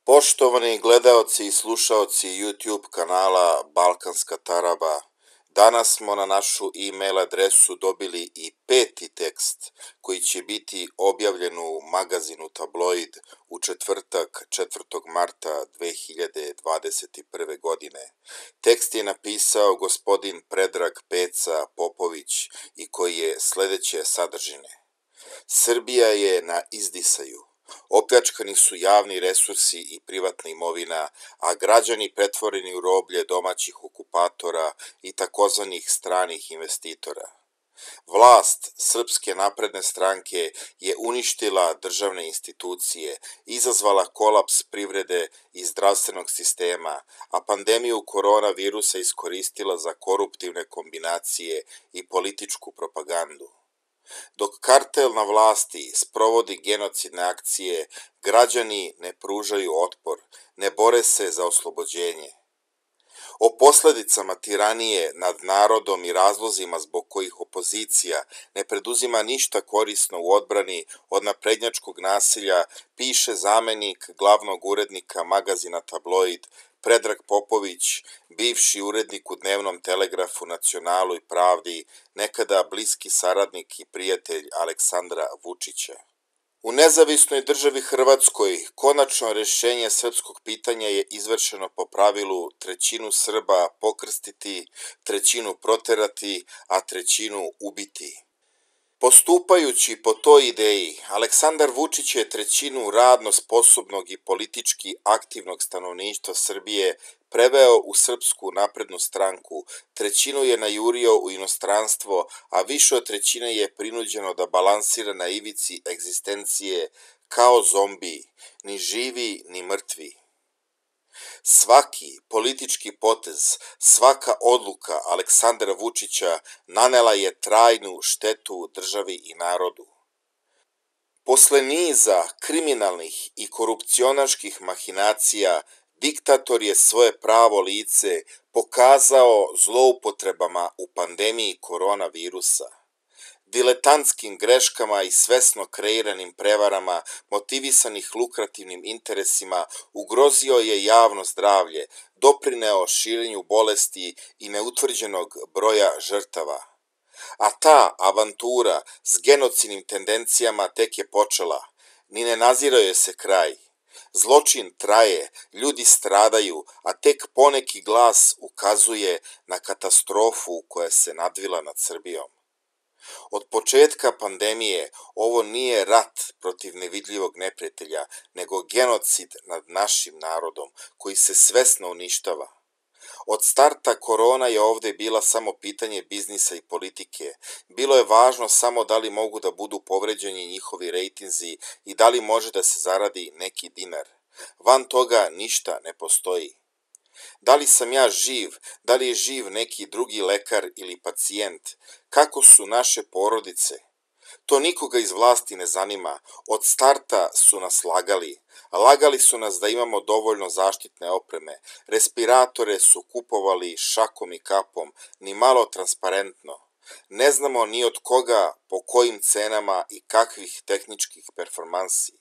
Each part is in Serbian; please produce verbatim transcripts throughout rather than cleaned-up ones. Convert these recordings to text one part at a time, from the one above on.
Poštovani gledaoci i slušaoci YouTube kanala Balkanska taraba, danas smo na našu e-mail adresu dobili i peti tekst koji će biti objavljen u magazinu Tabloid u četvrtak četvrtog marta dve hiljade dvadeset prve. godine. Tekst je napisao gospodin Predrag Peca Popović i koji je sledeće sadržine. Srbija je na izdisaju. Opljačkani su javni resursi i privatna imovina, a građani pretvoreni u roblje domaćih okupatora i takozvanih stranih investitora. Vlast Srpske napredne stranke je uništila državne institucije, izazvala kolaps privrede i zdravstvenog sistema, a pandemiju koronavirusa iskoristila za koruptivne kombinacije i političku propagandu. Dok kartel na vlasti sprovodi genocidne akcije, građani ne pružaju otpor, ne bore se za oslobođenje. O posledicama tiranije nad narodom i razlozima zbog kojih opozicija ne preduzima ništa korisno u odbrani od naprednjačkog nasilja piše zamenik glavnog urednika magazina Tabloid Predrag Popović, bivši urednik u dnevnom telegrafu, Nacionalu i Pravdi, nekada bliski saradnik i prijatelj Aleksandra Vučića. U nezavisnoj državi Hrvatskoj konačno rešenje srpskog pitanja je izvršeno po pravilu trećinu Srba pokrstiti, trećinu proterati, a trećinu ubiti. Postupajući po toj ideji, Aleksandar Vučić je trećinu radno sposobnog i politički aktivnog stanovništva Srbije preveo u Srpsku naprednu stranku, trećinu je najurio u inostranstvo, a više od trećine je prinuđeno da balansira na ivici egzistencije kao zombi, ni živi ni mrtvi. Svaki politički potez, svaka odluka Aleksandra Vučića nanela je trajnu štetu državi i narodu. Posle niza kriminalnih i korupcionaških mahinacija, diktator je svoje pravo lice pokazao zloupotrebama u pandemiji koronavirusa. Diletantskim greškama i svesno kreiranim prevarama motivisanih lukrativnim interesima ugrozio je javno zdravlje, doprineo širenju bolesti i neutvrđenog broja žrtava. A ta avantura s genocidnim tendencijama tek je počela, ni ne nazirao je se kraj. Zločin traje, ljudi stradaju, a tek poneki glas ukazuje na katastrofu koja se nadvila nad Srbijom. Od početka pandemije ovo nije rat protiv nevidljivog neprijatelja, nego genocid nad našim narodom koji se svesno uništava. Od starta korona je ovde bila samo pitanje biznisa i politike. Bilo je važno samo da li mogu da budu povređeni njihovi rejtinzi i da li može da se zaradi neki dinar. Van toga ništa ne postoji. Da li sam ja živ, da li je živ neki drugi lekar ili pacijent, kako su naše porodice? To nikoga iz vlasti ne zanima, od starta su nas lagali. Lagali su nas da imamo dovoljno zaštitne opreme, respiratore su kupovali šakom i kapom, ni malo transparentno. Ne znamo ni od koga, po kojim cenama i kakvih tehničkih performansi.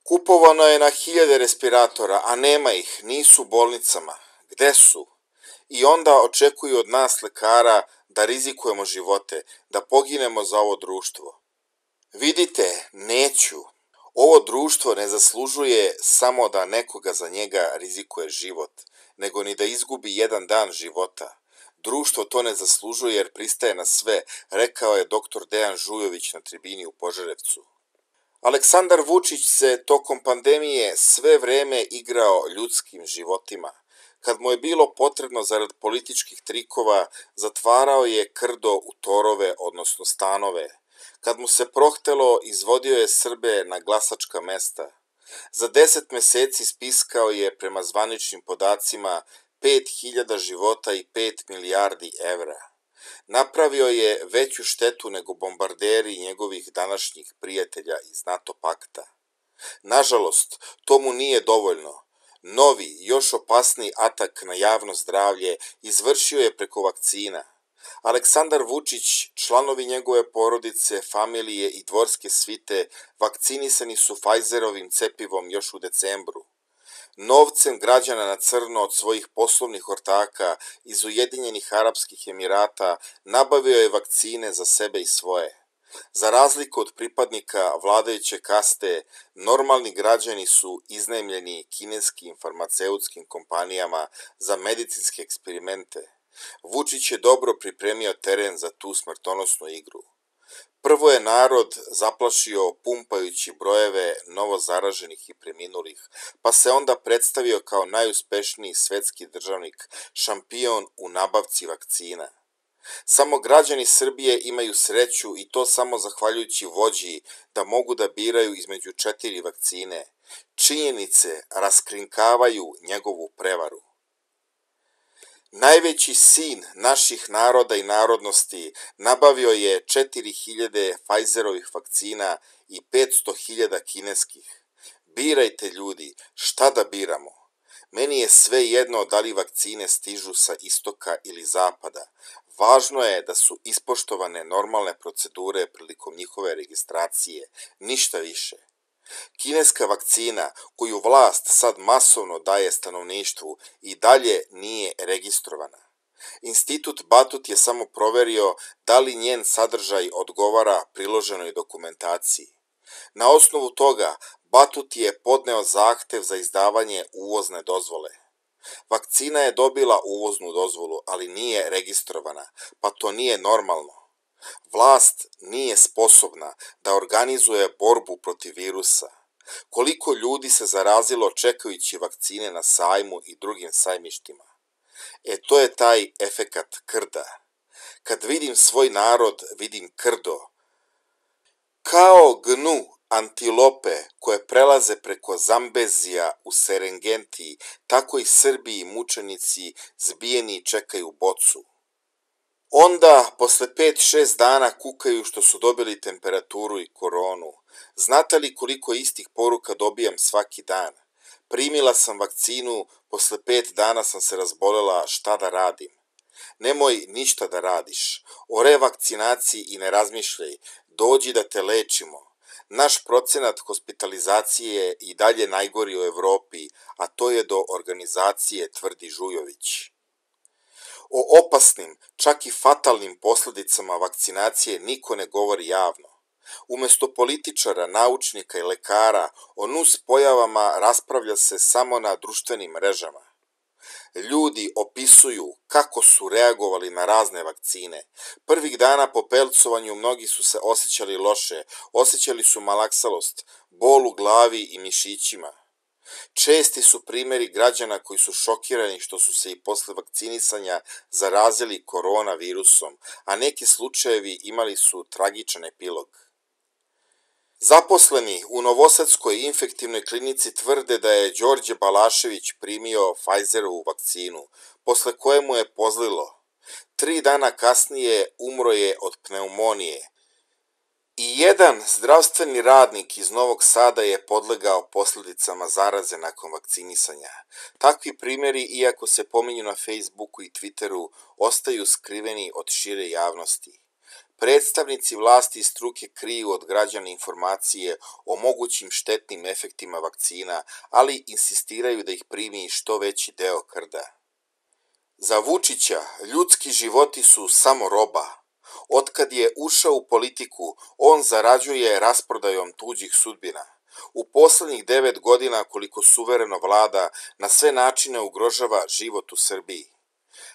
Kupovano je na hiljade respiratora, a nema ih, nisu u bolnicama. Gde su? I onda očekuju od nas lekara da rizikujemo živote, da poginemo za ovo društvo. Vidite, neću. Ovo društvo ne zaslužuje samo da nekoga za njega rizikuje život, nego ni da izgubi jedan dan života. Društvo to ne zaslužuje jer pristaje na sve, rekao je doktor Dejan Žujović na tribini u Požarevcu. Aleksandar Vučić se tokom pandemije sve vreme igrao ljudskim životima. Kad mu je bilo potrebno zarad političkih trikova, zatvarao je krdo u torove, odnosno stanove. Kad mu se prohtelo, izvodio je Srbe na glasačka mesta. Za deset meseci spiskao je, prema zvaničnim podacima, pet hiljada života i pet milijardi evra. Napravio je veću štetu nego bombarderi njegovih današnjih prijatelja iz NATO pakta. Nažalost, to mu nije dovoljno. Novi, još opasniji atak na javno zdravlje izvršio je preko vakcina. Aleksandar Vučić, članovi njegove porodice, familije i dvorske svite vakcinisani su Pfizerovim cepivom još u decembru. novcem građana na crno od svojih poslovnih ortaka iz Ujedinjenih Arapskih Emirata nabavio je vakcine za sebe i svoje. Za razliku od pripadnika vladajuće kaste, normalni građani su iznajmljeni kineskim farmaceutskim kompanijama za medicinske eksperimente. Vučić je dobro pripremio teren za tu smrtonosnu igru. Prvo je narod zaplašio pumpajući brojeve novozaraženih i preminulih, pa se onda predstavio kao najuspešniji svetski državnik, šampion u nabavci vakcina. Samo građani Srbije imaju sreću i to samo zahvaljujući vođi da mogu da biraju između četiri vakcine. Činjenice raskrinkavaju njegovu prevaru. Najveći sin naših naroda i narodnosti nabavio je četiri hiljade Pfizerovih vakcina i petsto hiljada kineskih. Birajte ljudi, šta da biramo? Meni je sve jedno da li vakcine stižu sa istoka ili zapada. Važno je da su ispoštovane normalne procedure prilikom njihove registracije, ništa više. Kineska vakcina, koju vlast sad masovno daje stanovništvu, i dalje nije registrovana. Institut Batut je samo proverio da li njen sadržaj odgovara priloženoj dokumentaciji. Na osnovu toga, Batut je podneo zahtev za izdavanje uvozne dozvole. Vakcina je dobila uvoznu dozvolu, ali nije registrovana, pa to nije normalno. Vlast nije sposobna da organizuje borbu protiv virusa. Koliko ljudi se zarazilo čekajući vakcine na sajmu i drugim sajmištima? E, to je taj efekat krda. Kad vidim svoj narod, vidim krdo. Kao gnu antilope koje prelaze preko Zambezija u Serengeti, tako i Srbi i mučenici zbijeni čekaju bocu. Onda, posle pet šest dana kukaju što su dobili temperaturu i koronu. Znate li koliko istih poruka dobijam svaki dan? Primila sam vakcinu, posle pet dana sam se razbolela, šta da radim? Nemoj ništa da radiš. O revakcinaciji i ne razmišljaj, dođi da te lečimo. Naš procenat hospitalizacije je i dalje najgori u Evropi, a to je do organizacije, tvrdi Žujović. O opasnim, čak i fatalnim posledicama vakcinacije niko ne govori javno. Umesto političara, naučnika i lekara, o nus pojavama raspravlja se samo na društvenim mrežama. Ljudi opisuju kako su reagovali na razne vakcine. Prvih dana po pelcovanju mnogi su se osjećali loše, osjećali su malaksalost, bol u glavi i mišićima. Česti su primjeri građana koji su šokirani što su se i posle vakcinisanja zarazili koronavirusom, a neki slučajevi imali su tragičan epilog. Zaposleni u Novosadskoj infektivnoj klinici tvrde da je Đorđe Balašević primio Pfizerovu vakcinu, posle koje mu je pozlilo. Tri dana kasnije umro je od pneumonije. I jedan zdravstveni radnik iz Novog Sada je podlegao posljedicama zaraze nakon vakcinisanja. Takvi primjeri, iako se pominju na Facebooku i Twitteru, ostaju skriveni od šire javnosti. Predstavnici vlasti i struke kriju od građana informacije o mogućim štetnim efektima vakcina, ali insistiraju da ih primi što veći deo krda. Za Vučića ljudski životi su samo roba. Otkad je ušao u politiku, on zarađuje rasprodajom tuđih sudbina. U poslednjih devet godina koliko suvereno vlada, na sve načine ugrožava život u Srbiji.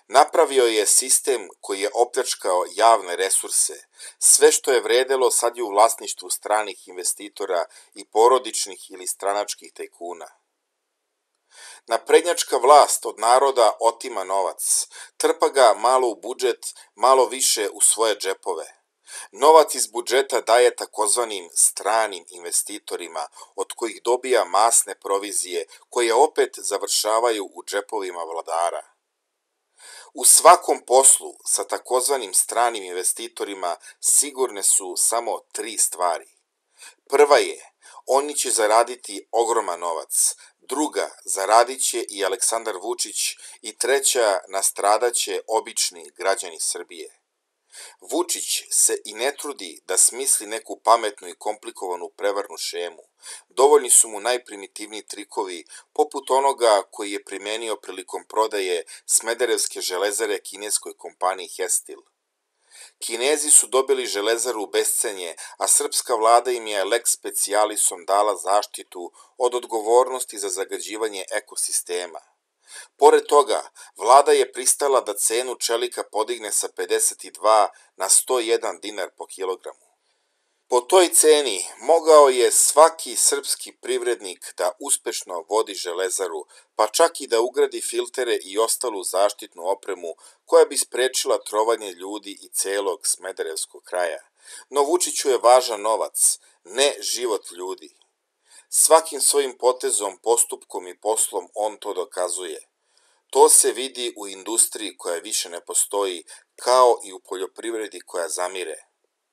Napravio je sistem koji je opljačkao javne resurse. Sve što je vredelo sad je u vlasništvu stranih investitora i porodičnih ili stranačkih tajkuna. Naprednjačka vlast od naroda otima novac, trpa ga malo u budžet, malo više u svoje džepove. Novac iz budžeta daje takozvanim stranim investitorima, od kojih dobija masne provizije, koje opet završavaju u džepovima vladara. U svakom poslu sa takozvanim stranim investitorima sigurne su samo tri stvari. Prva je, oni će zaraditi ogroman novac. Druga, zaradit će i Aleksandar Vučić i treća, nastradaće obični građani Srbije. Vučić se i ne trudi da smisli neku pametnu i komplikovanu prevarnu šemu. Dovoljni su mu najprimitivniji trikovi, poput onoga koji je primenio prilikom prodaje Smederevske železare kineskoj kompaniji Hestil. Kinezi su dobili železaru u bescenje, a srpska vlada im je lex specialisom dala zaštitu od odgovornosti za zagađivanje ekosistema. Pored toga, vlada je pristala da cenu čelika podigne sa pedeset dva na sto jedan dinar po kilogramu. Po toj ceni mogao je svaki srpski privrednik da uspešno vodi železaru, pa čak i da ugradi filtere i ostalu zaštitnu opremu koja bi sprečila trovanje ljudi i celog smederevskog kraja. No Vučiću je važan novac, ne život ljudi. Svakim svojim potezom, postupkom i poslom on to dokazuje. To se vidi u industriji koja više ne postoji, kao i u poljoprivredi koja zamire.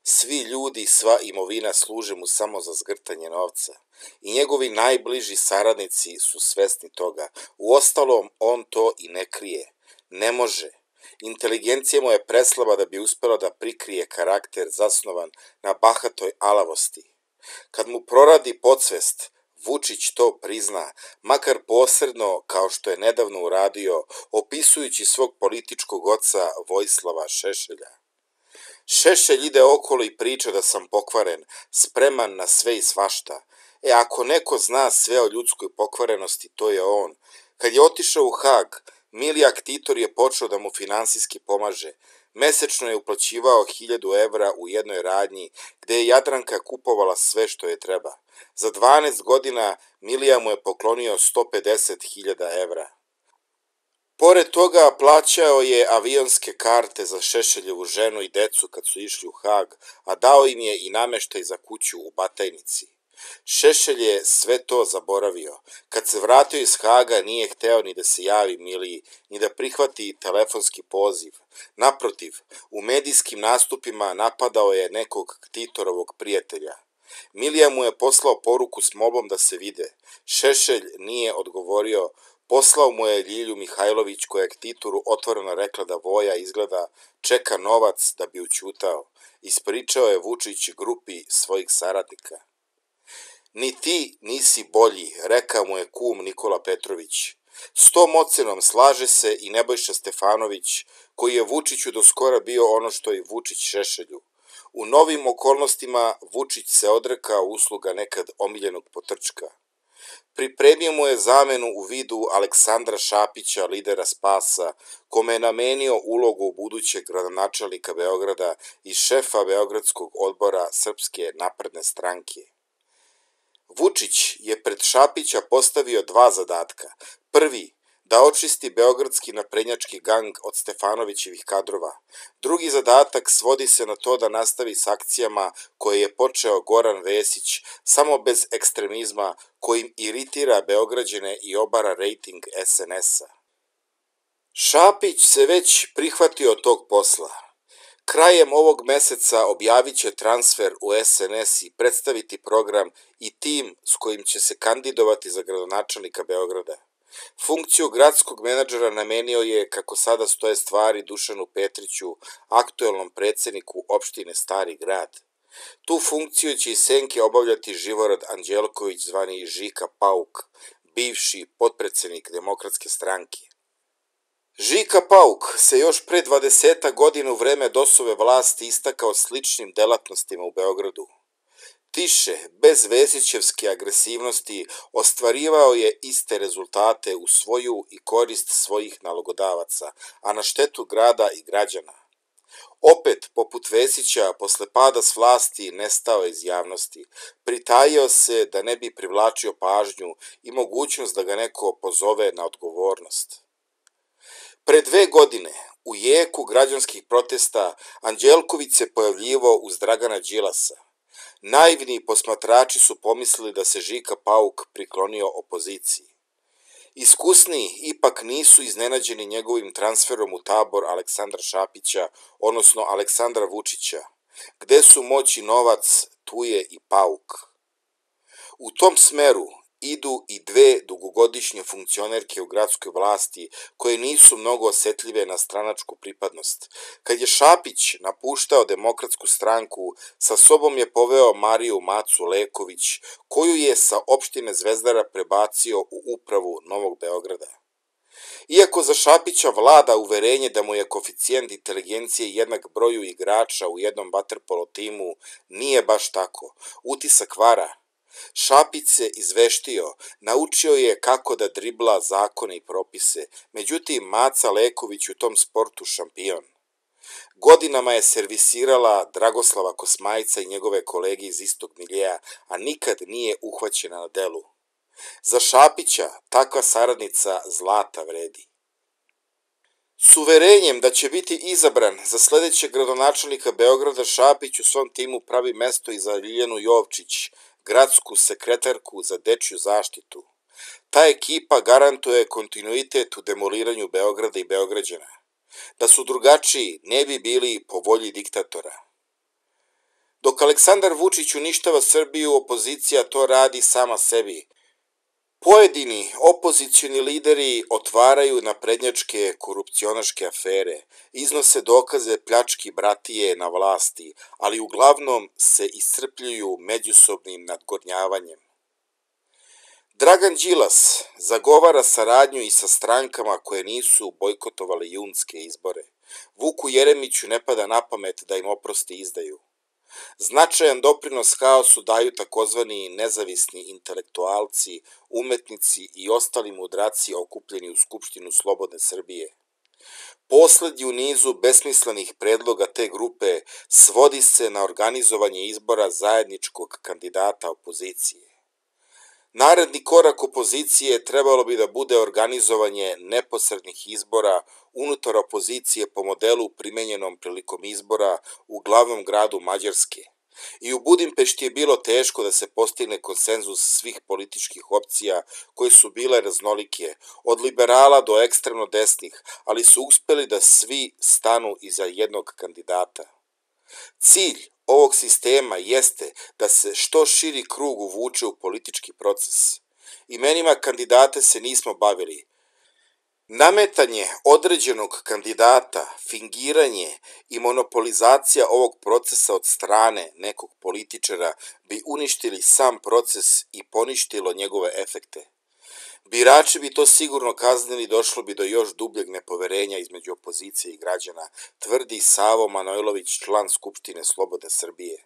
Svi ljudi i sva imovina služe mu samo za zgrtanje novca. I njegovi najbliži saradnici su svesni toga. Uostalom, on to i ne krije. Ne može. Inteligencija mu je preslaba da bi uspela da prikrije karakter zasnovan na bahatoj alavosti. Kad mu proradi podsvest, Vučić to prizna, makar posredno kao što je nedavno uradio, opisujući svog političkog oca Vojislava Šešelja. Šešelj ide okolo i priča da sam pokvaren, spreman na sve i svašta. E, ako neko zna sve o ljudskoj pokvarenosti, to je on. Kad je otišao u Hag, Milijak Titor je počeo da mu finansijski pomaže. Mesečno je uplaćivao hiljadu evra u jednoj radnji, gde je Jadranka kupovala sve što je treba. Za dvanaest godina Milija mu je poklonio sto pedeset hiljada evra. Pored toga plaćao je avionske karte za Šešeljevu ženu i decu kad su išli u Hag, a dao im je i nameštaj za kuću u Batajnici. Šešelj je sve to zaboravio. Kad se vratio iz Haga nije hteo ni da se javi Miliji, ni da prihvati telefonski poziv. Naprotiv, u medijskim nastupima napadao je nekog Titorovog prijatelja. Milija mu je poslao poruku s molbom da se vide. Šešelj nije odgovorio, poslao mu je Ljilju Mihajlović koja je Titoru otvoreno rekla da Voja izgleda čeka novac da bi ućutao. Ispričao je Vučić grupi svojih saradnika. Ni ti nisi bolji, rekao mu je kum Nikola Petrović. S tom ocenom slaže se i Nebojša Stefanović, koji je Vučiću do skora bio ono što i Vučić Šešelju. U novim okolnostima Vučić se odrekao usluga nekad omiljenog potrčka. Pripremio mu je zamenu u vidu Aleksandra Šapića, lidera Spasa, kome je namenio ulogu budućeg gradonačelnika Beograda i šefa Beogradskog odbora Srpske napredne stranke. Vučić je pred Šapića postavio dva zadatka. Prvi, da očisti beogradski naprednjački gang od Stefanovićevih kadrova. Drugi zadatak svodi se na to da nastavi s akcijama koje je počeo Goran Vesić, samo bez ekstremizma kojim iritira Beograđane i obara rejting es en es-a. Šapić se već prihvatio tog posla. Krajem ovog meseca objavit će transfer u es en es i predstaviti program i tim s kojim će se kandidovati za gradonačelnika Beograda. Funkciju gradskog menadžera namenio je, kako sada stoje stvari, Dušanu Petriću, aktuelnom predsedniku opštine Stari grad. Tu funkciju će i senke obavljati Živorad Anđelković, zvani Žika Pauk, bivši potpredsednik Demokratske stranke. Žika Pauk se još pre dvadesetak godina u vreme dosove vlasti istakao sličnim delatnostima u Beogradu. Tiše, bez Vesićevske agresivnosti, ostvarivao je iste rezultate u svoju i korist svojih nalogodavaca, a na štetu grada i građana. Opet, poput Vesića, posle pada s vlasti nestao iz javnosti, pritajio se da ne bi privlačio pažnju i mogućnost da ga neko pozove na odgovornost. Pre dve godine, u jeku građanskih protesta, Anđelković se pojavljivao uz Dragana Đilasa. Naivni posmatrači su pomislili da se Žika Pauk priklonio opoziciji. Iskusniji ipak nisu iznenađeni njegovim transferom u tabor Aleksandra Šapića, odnosno Aleksandra Vučića. Gde su moć i novac, tu je i Pauk. U tom smeru idu i dve dugogodišnje funkcionerke u gradskoj vlasti koje nisu mnogo osetljive na stranačku pripadnost. Kad je Šapić napuštao Demokratsku stranku, sa sobom je poveo Mariju Macu Leković, koju je sa opštine Zvezdara prebacio u upravu Novog Beograda. Iako za Šapića vlada uverenje da mu je koeficijent inteligencije jednak broju igrača u jednom vaterpolo timu, nije baš tako. Utisak vara. Šapić se izveštio, naučio je kako da dribla zakone i propise, međutim Maca Leković u tom sportu šampion. Godinama je servisirala Dragoslava Kosmajca i njegove kolege iz istog miljea, a nikad nije uhvaćena na delu. Za Šapića takva saradnica zlata vredi. S uverenjem da će biti izabran za sledećeg gradonačelnika Beograda, Šapić u svom timu pravi mesto i za Ljiljanu Jovčić, gradsku sekretarku za dečju zaštitu. Ta ekipa garantuje kontinuitet u demoliranju Beograda i Beograđana. Da su drugačiji, ne bi bili po volji diktatora. Dok Aleksandar Vučić uništava Srbiju, opozicija to radi sama sebi. Pojedini opozicioni lideri otvaraju naprednjačke korupcionaške afere, iznose dokaze pljački bratije na vlasti, ali uglavnom se iscrpljuju međusobnim nadgornjavanjem. Dragan Đilas zagovara saradnju i sa strankama koje nisu bojkotovale junske izbore. Vuku Jeremiću ne pada na pamet da im oprosti izdaju. Značajan doprinos haosu daju takozvani nezavisni intelektualci, umetnici i ostali mudraci okupljeni u Skupštinu Slobodne Srbije. Poslednji u nizu besmislenih predloga te grupe svodi se na organizovanje izbora zajedničkog kandidata opozicije. Naredni korak opozicije trebalo bi da bude organizovanje neposrednih izbora unutar opozicije po modelu primenjenom prilikom izbora u glavnom gradu Mađarske. I u Budimpešti je bilo teško da se postigne konsenzus svih političkih opcija koje su bile raznolike, od liberala do ekstremno desnih, ali su uspeli da svi stanu iza jednog kandidata. Cilj ovog sistema jeste da se što širi krug uvuče u politički proces. Imenima kandidate se nismo bavili. Nametanje određenog kandidata, fingiranje i monopolizacija ovog procesa od strane nekog političara bi uništili sam proces i poništilo njegove efekte. Birači bi to sigurno kaznili, došlo bi do još dubljeg nepoverenja između opozicije i građana, tvrdi Savo Manojlović, član Skupštine Slobodne Srbije.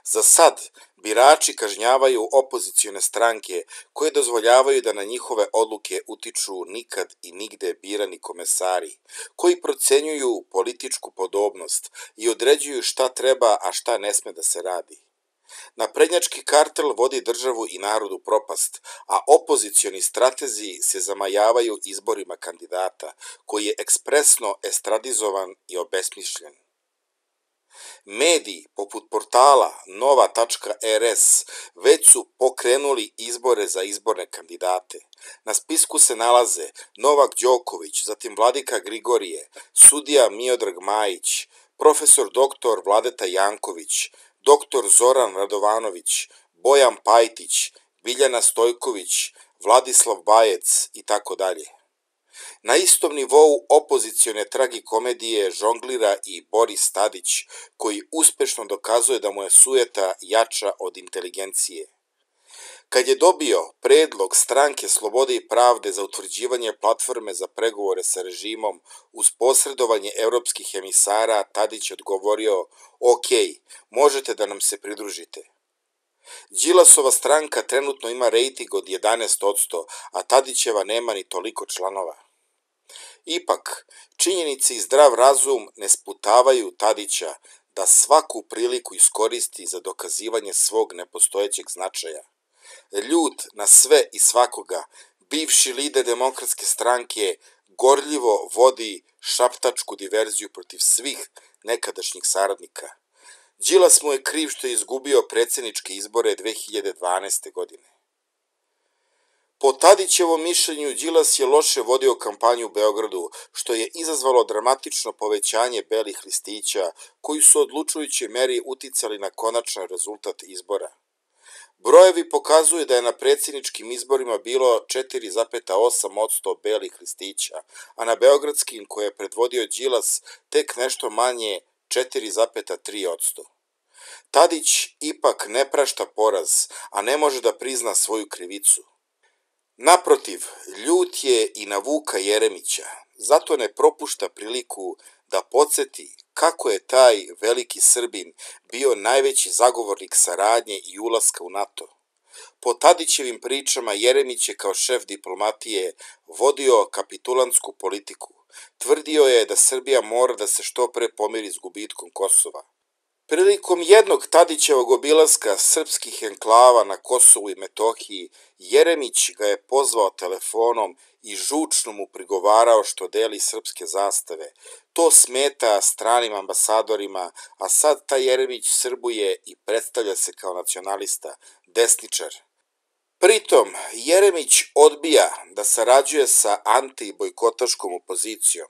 Za sad, birači kažnjavaju opozicione stranke koje dozvoljavaju da na njihove odluke utiču nikad i nigde birani komesari, koji procenjuju političku podobnost i određuju šta treba, a šta ne sme da se radi. Naprednjački kartel vodi državu i narod u propast, a opozicioni stratezi se zamajavaju izborima kandidata, koji je ekspresno estradizovan i obesmišljen. Mediji, poput portala nova tačka er es, već su pokrenuli izbore za izborne kandidate. Na spisku se nalaze Novak Đoković, zatim Vladika Grigorije, sudija Miodrag Majić, profesor doktor Vladeta Janković, doktor Zoran Radovanović, Bojan Pajtić, Biljana Stojković, Vladislav Bajec i tako dalje. Na istom nivou opozicione tragikomedije žonglira i Boris Tadić, koji uspešno dokazuje da mu je sujeta jača od inteligencije. Kad je dobio predlog Stranke Slobode i pravde za utvrđivanje platforme za pregovore sa režimom uz posredovanje evropskih emisara, Tadić odgovorio: ok, možete da nam se pridružite. Đilasova stranka trenutno ima rejting od jedanaest posto, a Tadićeva nema ni toliko članova. Ipak, činjenice i zdrav razum ne sputavaju Tadića da svaku priliku iskoristi za dokazivanje svog nepostojećeg značaja. Ljut na sve i svakoga, bivši lider Demokratske stranke gorljivo vodi šaptačku diverziju protiv svih nekadašnjih saradnika. Đilas mu je kriv što je izgubio predsjedničke izbore dve hiljade dvanaeste. godine. Po Tadićevom mišljenju, Đilas je loše vodio kampanju u Beogradu, što je izazvalo dramatično povećanje belih listića, koji su odlučujućoj meri uticali na konačan rezultat izbora. Brojevi pokazuju da je na predsjedničkim izborima bilo četiri zarez osam posto belih listića, a na beogradskim, koje je predvodio Đilas, tek nešto manje četiri zarez tri posto. Tadić ipak ne prašta poraz, a ne može da prizna svoju krivicu. Naprotiv, ljut je i na Vuka Jeremića, zato ne propušta priliku da podsjeti kako je taj veliki Srbin bio najveći zagovornik saradnje i ulaska u NATO. Po Tadićevim pričama, Jeremić je kao šef diplomatije vodio kapitulantsku politiku. Tvrdio je da Srbija mora da se što pre pomiri s gubitkom Kosova. Prilikom jednog Tadićevog obilaska srpskih enklava na Kosovu i Metohiji, Jeremić ga je pozvao telefonom i žučno mu prigovarao što deli srpske zastave. To smeta stranim ambasadorima, a sad taj Jeremić srbuje i predstavlja se kao nacionalista, desničar. Pritom, Jeremić odbija da sarađuje sa anti-bojkotaškom opozicijom.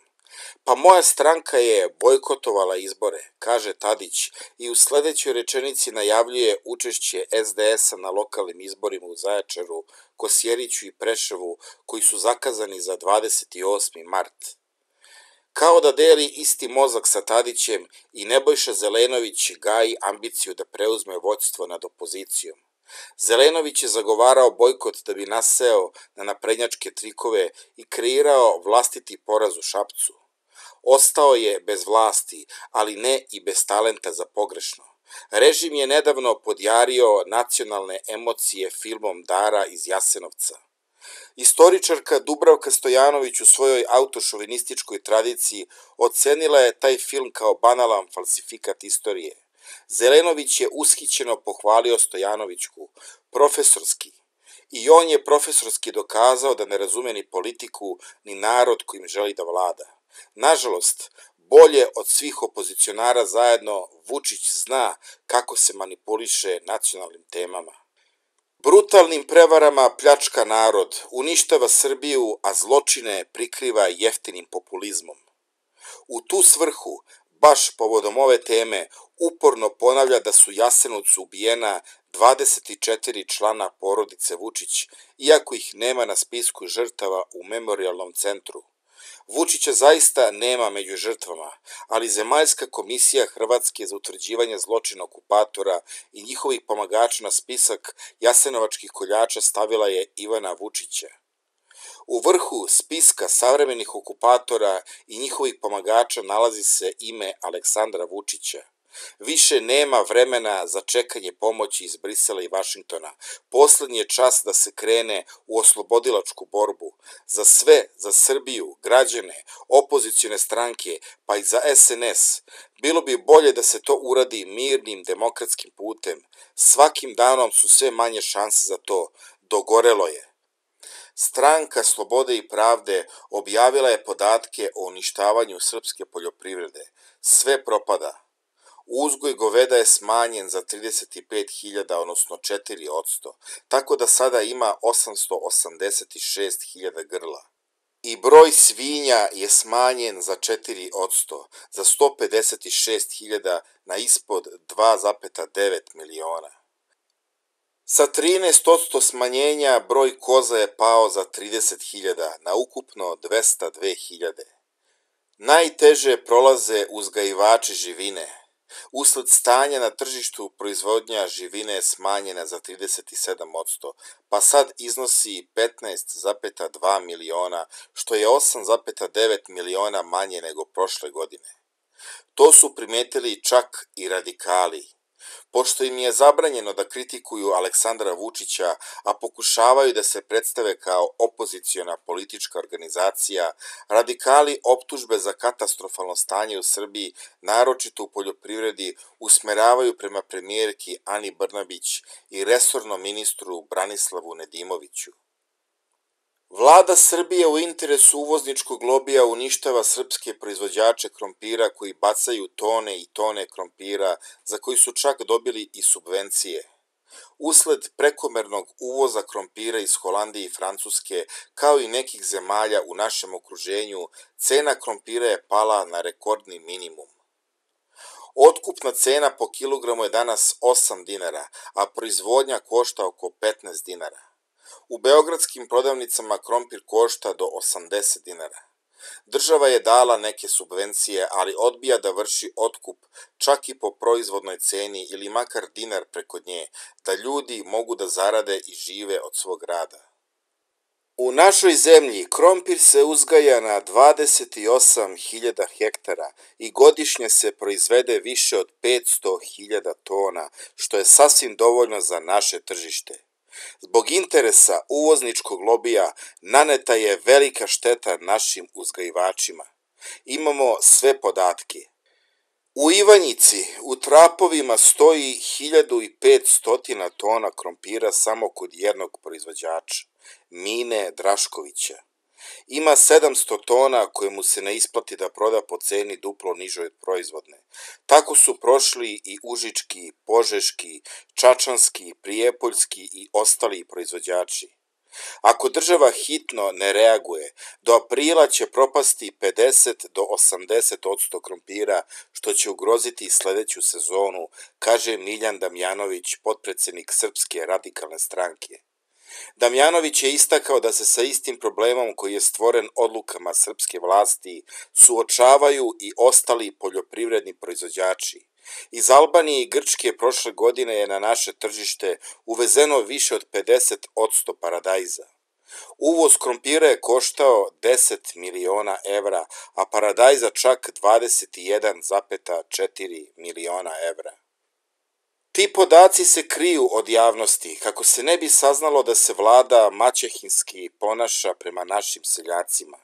Pa moja stranka je bojkotovala izbore, kaže Tadić, i u sledećoj rečenici najavljuje učešće es de es a na lokalnim izborima u Zaječaru, Kosjeriću i Preševu, koji su zakazani za dvadeset osmi mart. Kao da deli isti mozak sa Tadićem, i Nebojša Zelenović gaji ambiciju da preuzme vođstvo nad opozicijom. Zelenović je zagovarao bojkot da bi naseo na naprednjačke trikove i kreirao vlastiti poraz u Šapcu. Ostao je bez vlasti, ali ne i bez talenta za pogrešno. Režim je nedavno podjario nacionalne emocije filmom Dara iz Jasenovca. Istoričarka Dubravka Stojanović u svojoj autošovinističkoj tradiciji ocenila je taj film kao banalan falsifikat istorije. Zelenović je ushićeno pohvalio Stojanovićku, profesorski, i on je profesorski dokazao da ne razume ni politiku, ni narod kojim želi da vlada. Nažalost, bolje od svih opozicionara zajedno, Vučić zna kako se manipuliše nacionalnim temama. Brutalnim prevarama pljačka narod, uništava Srbiju, a zločine prikriva jeftinim populizmom. U tu svrhu, baš povodom ove teme, uporno ponavlja da su u Jasenovcu ubijena dvadeset četiri člana porodice Vučić, iako ih nema na spisku žrtava u memorijalnom centru. Vučića zaista nema među žrtvama, ali Zemaljska komisija Hrvatske za utvrđivanje zločina okupatora i njihovih pomagača na spisak jasenovačkih koljača stavila je Ivana Vučića. U vrhu spiska savremenih okupatora i njihovih pomagača nalazi se ime Aleksandra Vučića. Više nema vremena za čekanje pomoći iz Brisela i Vašingtona. Poslednji je čas da se krene u oslobodilačku borbu. Za sve, za Srbiju, građane, opozicione stranke, pa i za es en es. Bilo bi bolje da se to uradi mirnim, demokratskim putem. Svakim danom su sve manje šanse za to. Dogorelo je. Stranka Slobode i pravde objavila je podatke o uništavanju srpske poljoprivrede. Sve propada. Uzgoj goveda je smanjen za trideset pet hiljada, odnosno četiri posto, tako da sada ima osamsto osamdeset šest hiljada grla. I broj svinja je smanjen za četiri posto, za sto pedeset šest hiljada na ispod dva zarez devet miliona. Sa trinaest posto smanjenja broj koza je pao za trideset hiljada, na ukupno dvesta dve hiljade. Najteže prolaze uzgajivači živine. Usled stanja na tržištu proizvodnja živine je smanjena za trideset sedam posto, pa sad iznosi petnaest zarez dva miliona, što je osam zarez devet miliona manje nego prošle godine. To su primetili čak i radikali. Pošto im je zabranjeno da kritikuju Aleksandra Vučića, a pokušavaju da se predstave kao opoziciona politička organizacija, radikali optužbe za katastrofalno stanje u Srbiji, naročito u poljoprivredi, usmeravaju prema premijerki Ani Brnabić i resornom ministru Branislavu Nedimoviću. Vlada Srbije u interesu uvozničkog lobija uništava srpske proizvođače krompira koji bacaju tone i tone krompira za koji su čak dobili i subvencije. Usled prekomernog uvoza krompira iz Holandije i Francuske, kao i nekih zemalja u našem okruženju, cena krompira je pala na rekordni minimum. Otkupna cena po kilogramu je danas osam dinara, a proizvodnja košta oko petnaest dinara. U beogradskim prodavnicama krompir košta do osamdeset dinara. Država je dala neke subvencije, ali odbija da vrši otkup čak i po proizvodnoj ceni ili makar dinar preko nje, da ljudi mogu da zarade i žive od svog rada. U našoj zemlji krompir se uzgaja na dvadeset osam hiljada hektara i godišnje se proizvede više od petsto hiljada tona, što je sasvim dovoljno za naše tržište. Zbog interesa uvozničkog lobija naneta je velika šteta našim uzgajivačima. Imamo sve podatke. U Ivanjici u trapovima stoji hiljadu petsto tona krompira samo kod jednog proizvođača, Mine Draškovića. Ima sedamsto tona koje mu se ne isplati da proda po ceni duplo nižoj od proizvodne. Tako su prošli i užički, požeški, čačanski, prijepoljski i ostali proizvođači. Ako država hitno ne reaguje, do aprila će propasti pedeset do osamdeset odsto krompira, što će ugroziti sledeću sezonu, kaže Miljan Damjanović, potpredsednik Srpske radikalne stranke. Damjanović je istakao da se sa istim problemom koji je stvoren odlukama srpske vlasti suočavaju i ostali poljoprivredni proizvođači. Iz Albanije i Grčke prošle godine je na naše tržište uvezeno više od pedeset odsto paradajza. Uvoz krompira je koštao deset miliona evra, a paradajza čak dvadeset jedan zarez četiri miliona evra. Ti podaci se kriju od javnosti, kako se ne bi saznalo da se vlada maćehinski ponaša prema našim seljacima.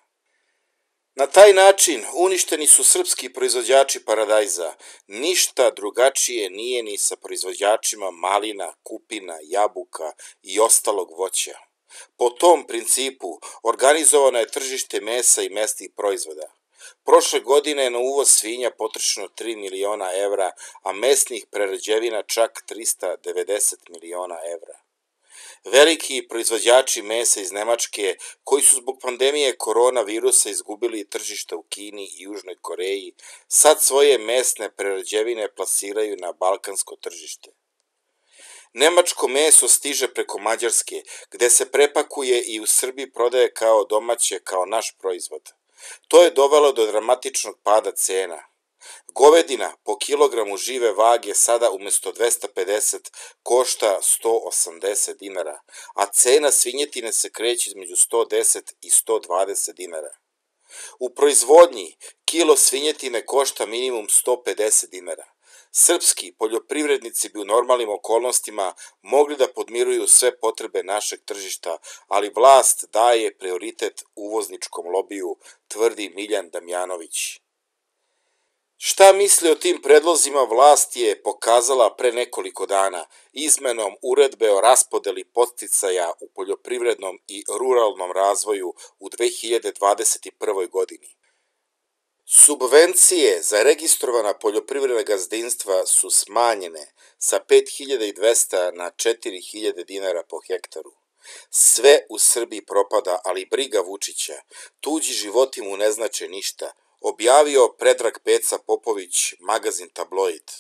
Na taj način uništeni su srpski proizvođači paradajza, ništa drugačije nije ni sa proizvođačima malina, kupina, jabuka i ostalog voća. Po tom principu organizovano je tržište mesa i mesnih proizvoda. Prošle godine je na uvoz svinja potrošeno tri miliona evra, a mesnih prerađevina čak trista devedeset miliona evra. Veliki proizvođači mesa iz Nemačke, koji su zbog pandemije koronavirusa izgubili tržišta u Kini i Južnoj Koreji, sad svoje mesne prerađevine plasiraju na balkansko tržište. Nemačko meso stiže preko Mađarske, gde se prepakuje i u Srbiji prodaje kao domaće, kao naš proizvod. To je dovelo do dramatičnog pada cena. Govedina po kilogramu žive vage sada umjesto dvesta pedeset košta sto osamdeset dinara, a cena svinjetine se kreće između sto deset i sto dvadeset dinara. U proizvodnji kilo svinjetine košta minimum sto pedeset dinara. Srpski poljoprivrednici bi u normalnim okolnostima mogli da podmiruju sve potrebe našeg tržišta, ali vlast daje prioritet uvozničkom lobiju, tvrdi Miljan Damjanović. Šta misli o tim predlozima vlast je pokazala pre nekoliko dana izmenom uredbe o raspodeli podsticaja u poljoprivrednom i ruralnom razvoju u dve hiljade dvadeset prvoj godini. Subvencije za registrovana poljoprivredna gazdinstva su smanjene sa pet hiljada dvesta na četiri hiljade dinara po hektaru. Sve u Srbiji propada, ali briga Vučića, tuđi životi mu ne znače ništa, objavio Predrag Peca Popović, magazin Tabloid.